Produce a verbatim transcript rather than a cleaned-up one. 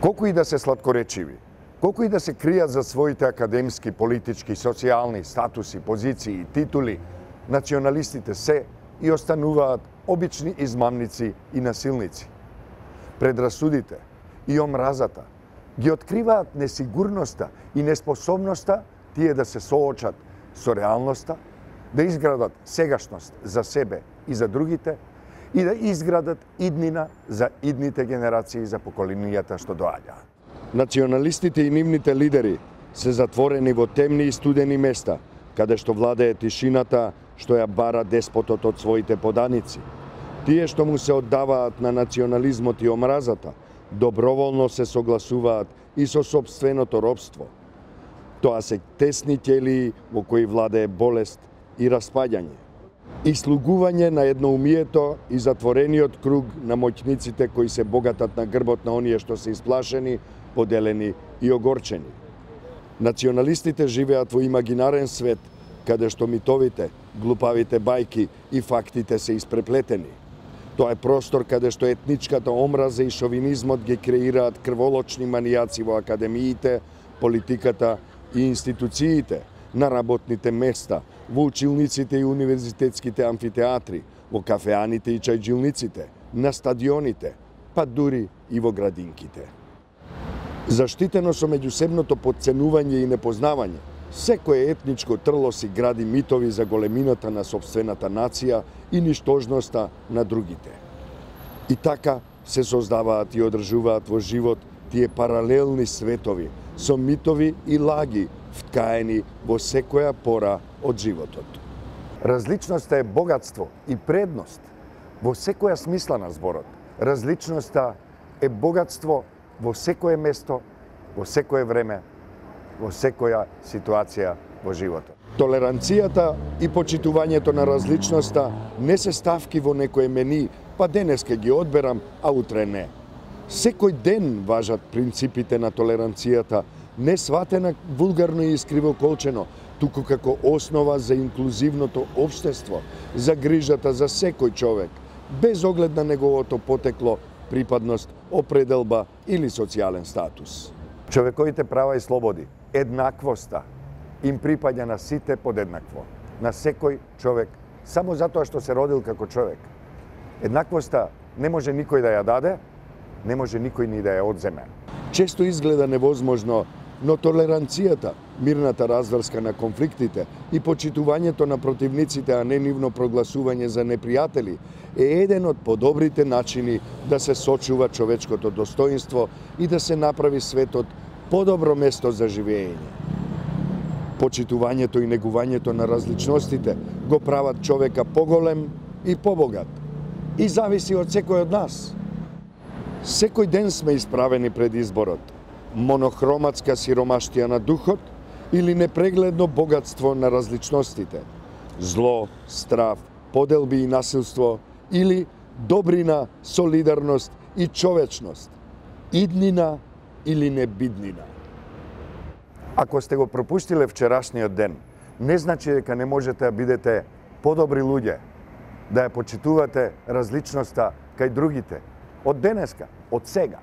Колку и да се сладкоречиви, колку и да се кријат за своите академски, политички, социјални статуси, позиции, титули, националистите се и остануваат обични измамници и насилници. Предрасудите и омразата ги откриваат несигурноста и неспособноста тие да се соочат со реалноста, да изградат сегашност за себе и за другите и да изградат иднина за идните генерации, за поколенијата што доаѓаат. Националистите и нивните лидери се затворени во темни и студени места, каде што владее тишината што ја бара деспотот од своите поданици. Тие што му се оддаваат на национализмот и омразата, доброволно се согласуваат и со собственото робство. Тоа се тесни ќелии во кои владее болест и распаѓање. И слугување на едноумието и затворениот круг на моќниците кои се богатат на грбот на оние што се исплашени, поделени и огорчени. Националистите живеат во имагинарен свет, каде што митовите, глупавите бајки и фактите се испреплетени. Тоа е простор каде што етничката омраза и шовинизмот ги креираат крволочни манијаци во академиите, политиката и институциите, на работните места, во училниците и универзитетските амфитеатри, во кафеаните и чајджилниците, на стадионите, па дури и во градинките. Заштитено со меѓусебното подценување и непознавање, секое етничко трло си гради митови за големината на собствената нација и ништожноста на другите. И така се создаваат и одржуваат во живот тие паралелни светови со митови и лаги вткаени во секоја пора од животот. Различноста е богатство и предност во секоја смисла на зборот. Различноста е богатство во секое место, во секое време, во секоја ситуација во животот. Толеранцијата и почитувањето на различноста не се ставки во некое мени, па денеска ги одберам, а утре не. Секој ден важат принципите на толеранцијата, не сватена вулгарно и искривоколчено, туку како основа за инклузивното општество, за грижата за секој човек, без оглед на неговото потекло, припадност, определба или социјален статус. Човековите права и слободи, еднаквоста, им припаѓа на сите подеднакво, на секој човек, само затоа што се родил како човек. Еднаквоста не може никој да ја даде, не може никој ни да ја одземе. Често изгледа невозможно, но толеранцијата, мирната разврска на конфликтите и почитувањето на противниците, а не нивно прогласување за непријатели, е еден од подобрите начини да се сочува човечкото достоинство и да се направи светот подобро место за живење. Почитувањето и негувањето на различностите го прават човека поголем и побогат. И зависи од секој од нас. Секој ден сме исправени пред изборот. Монохроматска сиромаштија на духот или непрегледно богатство на различностите. Зло, страв, поделби и насилство или добрина, солидарност и човечност. Иднина или небиднина. Ако сте го пропуштиле вчерашниот ден, не значи дека не можете да бидете подобри луѓе, да ја почитувате различноста кај другите, од денеска, од сега.